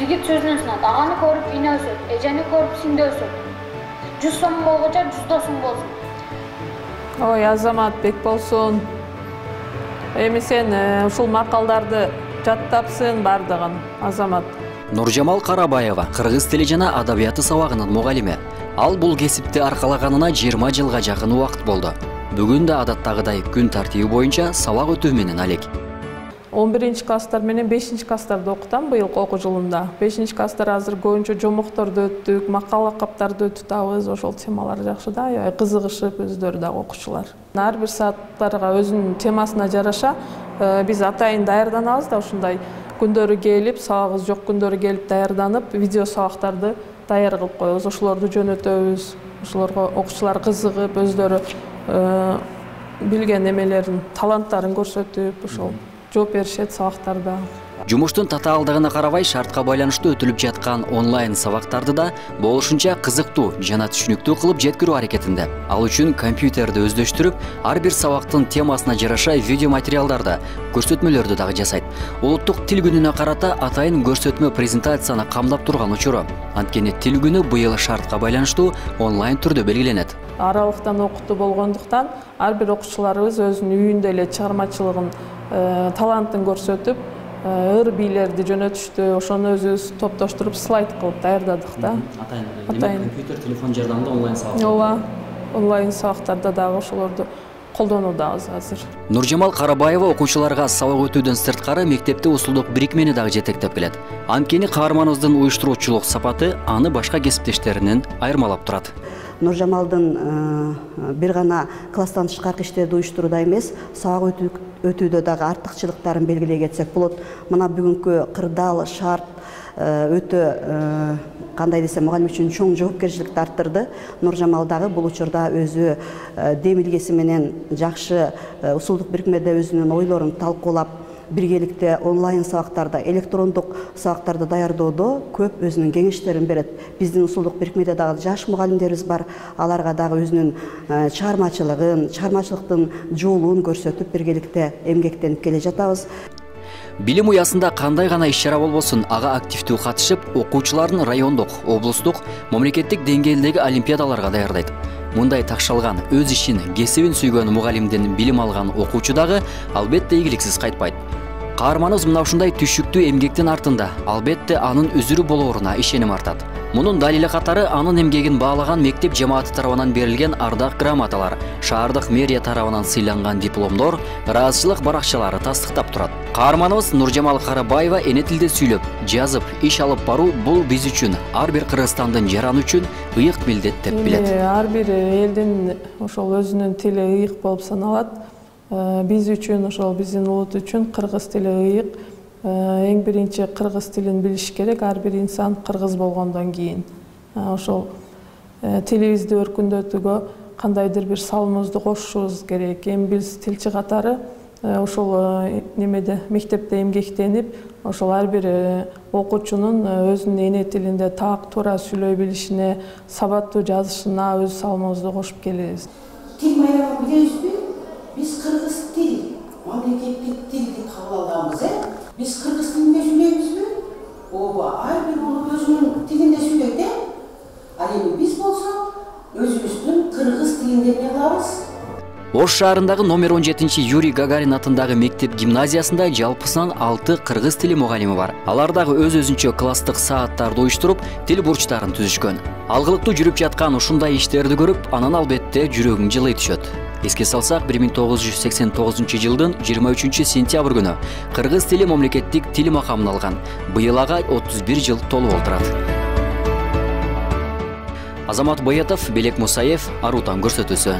Жигит сөзүнөн сынат. Аганы көрүп ине өсөт, эжени көрүп сиңде өсөт. 100 сом болгоча 100 досуң болсун. Ой, Азамат бек болсун. Эми сен ушул макалдарды жаттапсың бардыгын, Азамат. Нуржамал Карабаева кыргыз тили жана адабияты сабагынын мугалими. Ал бул кесипти аркалаганына 20 жылга жакын убакыт болду. Бүгүн да адаттагыдай күн тартиби боюнча сабак өтүү менен алек. 11-класстар менен 5-класстарды окутам быйылкы окуу жылында. 5-класстар азыр көбүнчө жомокторду өттүк, макал лакаптарды өтүтабыз. Ошол темалар жакшы да, аябай кызыгышып өздөрү дагы окуучулар. Ар бир сааттарга өзүнүн темасына жараша биз атайын даярданабыз да, ушундай күндөрү келип, сабагыбыз жок күндөрү келип даярданып, видео сабактарды даяр кылып коебуз. Ошолорду жөнөтөбүз. Ошолорго окуучулар кызыгып, өздөрү билген эмелерин, таланттарын көрсөтүп, ошол жооп беришет сабактарда. Жумуштун татаалдыгына карабай шартка байланыштуу өтүлүп жаткан онлайн сабактарды да болушунча кызыктуу жана түшүнүктүү кылып жеткирүү аракетинде. Ал үчүн компьютерди өздөштүрүп, ар бир сабактын темасына жараша видео материалдарды, көрсөтмөлөрдү дагы жасайт. Улуттук тил күнүнө карата атайын көрсөтмө презентацияны камдап турган учуру. Анткени тил күнү быйыл шартка байланыштуу онлайн түрдө белгиленет. Аралыктан окутуу болгондуктан ар бир окуучуларыбыз өзүнүн үйүндө эле чыгармачылыгын, талантын көрсөтүп, ыр бийлерди жөнөтүштү. Ошону өзүбүз топтоштуруп слайд кылып даярдадык да. Атайын компьютер, телефон жардамында онлайн сабак. Ооба, онлайн сабактарда дагы ошолорду колдонуудабыз азыр. Нуржамал Карабаева окуучуларга сабак өтүүдөн сырткары мектепте усулдук бирикмени дагы жетектеп келет. Анткени каарманыбыздын уюштуруучулук сапаты аны башка кесиптештеринен айырмалап турат. Нуржамалдын бир гана класстан тышкаркы иштерди уюштурууда эмес, сабак өтүүдө дагы артыкчылыктарын белгилей кетсек болот. Мына бүгүнкү кырдаал шарт өтө кандай десем, мугалим үчүн чоң жоопкерчиликти арттырды. Нуржамал дагы бул учурда өзү демилгеси менен жакшы усулдук бирикмеде өзүнүн ойлорун талкуулап, биргеликте онлайн сабактарда, электрондук сабактарды даярдоодо көп өзүнүн кеңештерин берет. Биздин усулдук бирикмеде дагы жаш мугалимдерибиз бар. Аларга дагы өзүнүн чыгармачылыктын жолун көрсөтүп, биргеликте эмгектенип келе жатабыз. Билим уясында кандай гана иш-чара болбосун, ага активдүү катышып, окуучуларын райондук, облустук, мамлекеттик деңгээлдеги олимпиадаларга даярдайт. Мындай такшалган, өз ишин, кесибин сүйгөн мугалимден билим алган окуучу дагы албетте ийгиликсиз кайтпайт. Каарманыбыз мына ушундай түшүктүү эмгектин артында албетте анын үзүрү болооруна ишеним артат. Мунун далили катары анын эмгегин баалаган мектеп жамааты тарабынан берилген ардак грамоталар, шаардык мэрия тарабынан сыйланган дипломдор, ыраазычылык баракчалары тастыктап турат. Каарманыбыз Нуржамал Карабаева эне тилде сүйлөп, жазып, иш алып баруу бул биз үчүн, ар бир Кыргызстандын жараны үчүн ыйык милдет деп билет. Ар бир элдин ошол өзүнүн тили ыйык болуп саналат. Биз үчүн, ошол биздин улут үчүн кыргыз тили ыйык. Эң биринчи кыргыз тилин билиш керек, ар бир инсан кыргыз болгондон кийин. Ошол тилибизди өркүндөтүүгө кандайдыр бир салымыбызды кошушубуз керек. Эми биз тилчи катары ошол немеде мектепте эмгектенип, ошол ар бир окуучунун өзүнүн эне тилинде так туура сүйлөй билишине, сабаттуу жазышына өз салымыбызды кошуп келебиз. Тил майрамын билесизби? Биз кыргыз тил, мамлекеттик тилди кабыл алганбыз, Биз кыргыз тилинде сүйлөйбүзбү? Ооба, ар бир улут өзүнүн тилинде сүйлөйт, Ал эми биз болсок, өзүбүздүн кыргыз тилинде эмне кылабыз? Ош шаарындагы номер 17 Юрий Гагарин атындагы мектеп гимназиясында жалпысынан 6 кыргыз тили мугалими бар. Алар дагы өз-өзүнчө класстык сааттарды уюштуруп, тил бурчтарын түзүшкөн. Алгылыктуу жүрүп жаткан ушундай иштерди көрүп, анан албетте жүрөгүң жылый түшөт. Эске салсак, 1989 жылдын 23 сентябрь күнү кыргыз тили мамлекеттик тил макамын алган. Быйыл ага 31 жыл толуп олтурат. Азамат Баятов, Белек Мусаев, Арутан көрсөтүүсү.